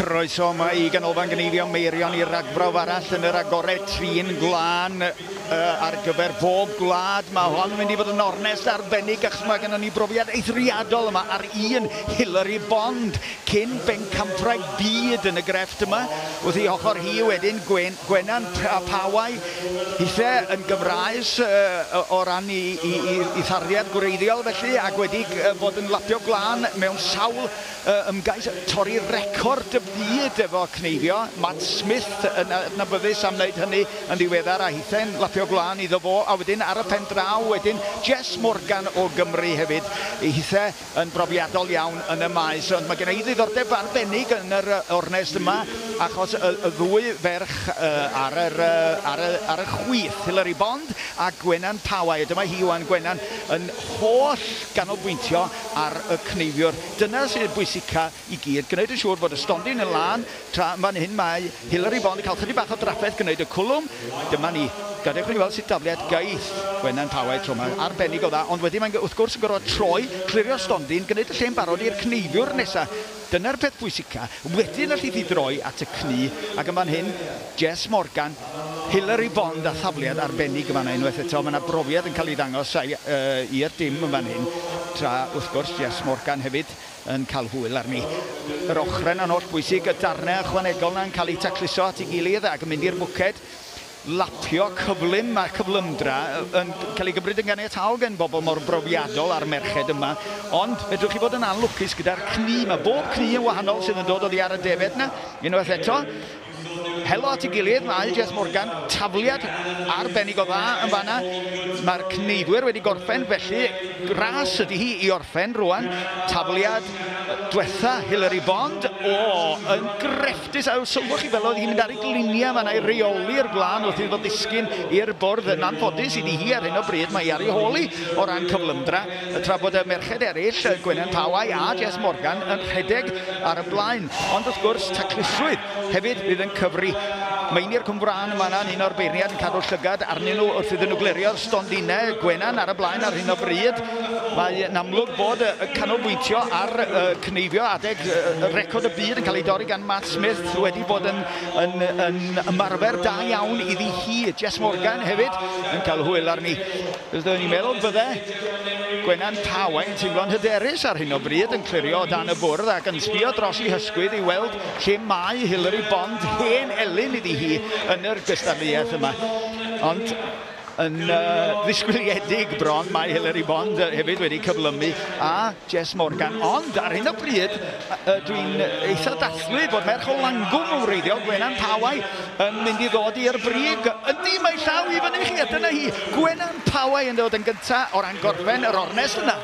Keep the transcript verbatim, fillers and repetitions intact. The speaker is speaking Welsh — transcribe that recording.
Croeso yma i Ganolfan Gneifio Meirion i ragbrawf arall yn yr agored trin gwlân uh, ar gyfer bob gwlad. Mae hon yn mynd i fod yn ornest arbennig achos mae gennym ni brofiad eithriadol yma ar un Hilary Bond, cyn bencampwraig byd yn y grefft yma. Wrth ei hochr hi wedyn Gwen, Gwenan Pawai, hithe yn Gymraes uh, o ran i, i, i, i tharddiad gwreiddiol felly, ac wedi fod yn lapio gwlân mewn sawl uh, ymgais torri record y byd efo cneifio. Matt Smith yn adnabyddus am wneud hynny yn ddiweddar, a hithe'n lapio gwlân iddo fo, a wedyn ar y pen draw wedyn Jess Morgan o Gymru hefyd, hithe yn brofiadol iawn yn y maes. Ond mae gen i ddiddordeb arbennig yn yr ornest yma, achos y, y ddwy ferch uh, ar, yr, uh, ar, y, ar y chwith, Hilary Bond a Gwenan Pawai. Dyma hi wan, Gwenan, yn holl ganolbwyntio ar y cneifiwr. Dyna sydd bwysica i gyd, gwneud yn siŵr bod y stondin yn lân, tra fan hyn mae Hilary Bond yn cael chydig bach o drafferth gwneud y cwlwm. Dyma ni, gadewch ni weld sut dafliad gaeth Gwenan Pawai tro yma, arbennig o dda, ond wedyn mae'n wrth gwrs yn gorfod troi, clirio'r stondin, gwneud y lle'n barod i'r cneifiwr nesaf. Dyna'r peth pwysica. Wedyn allith hi droi at y cnu, ac yn fan hyn, Jess Morgan, Hilary Bond a thafliad arbennig yn fan unwaith eto. Mae yna brofiad yn cael ei ddangos uh, i'r dim yn fan hyn, tra wrth gwrs Jess Morgan hefyd yn cael hwyl arni. Yr ochrau yna'n holl bwysig, y darnau ychwanegol yna'n cael eu tacluso at ei gilydd ac yn mynd i'r bwced. Lapio cyflym a cyflymdra yn cael ei gymryd yn ganiataol gen bobl mor brofiadol a'r merched yma, ond fedrwch chi fod yn anlwcus gyda'r cnu. Mae bob cnu yn wahanol sydd yn dod oddi ar y defed yna. Unwaith eto, helo at ei gilydd, mae Jess Morgan, tafliad arbennig o dda yn fanna. Mae'r cneifwyr wedi gorffen, felly ras ydy hi i orffen rwan. Tafliad diwetha Hilary Bond, o, yn grefftus. A sylwch chi fel oedd hi'n mynd ar ei gliniau fanna i reoli'r gwlân wrth iddo ddisgyn i'r bwrdd. Yn anffodus iddi hi ar hyn o bryd, mae hi ar ei hôl hi o ran cyflymdra, tra bod y merched eraill, Gwenan Pawai a Jess Morgan, yn rhedeg ar y blaen. Ond wrth gwrs, taclusrwydd hefyd fydd yn cyfri. Meinir Cwmbrân yma yna'n un o'r beirniad yn cadw llygad arnyn nhw wrth iddyn nhw glirio'r stondinau. Gwenan ar y blaen ar hyn o bryd. Mae'n amlwg bod y canolbwyntio ar uh, cneifio adeg uh, record y byd yn cael ei dorri gan Matt Smith wedi bod yn, yn, yn ymarfer da iawn iddi hi. Jess Morgan hefyd yn cael hwyl arni. Byddwn ni'n meddwl bydde Gwenan Pawai yn teimlo'n hyderus ar hyn o bryd yn clirio o dan y bwrdd ac yn sbio dros ei hysgwydd i weld lle mae Hilary Bond, hen elyn iddi hi yn yr gystadleuaeth yma. Ond yn uh, ddisgwyliedig bron, mae Hilary Bond hefyd wedi cyflymu a Jess Morgan. Ond ar hyn o bryd, uh, dwi'n eitha dathlu bod merch o Langwm yn wreiddiol, Gwenan Pawai, yn mynd i ddod i'r brig. Ydy, mae llaw i fyny chi, a dyna hi. Gwenan Pawai yn dod yn gyntaf o ran gorffen yr ornest yna.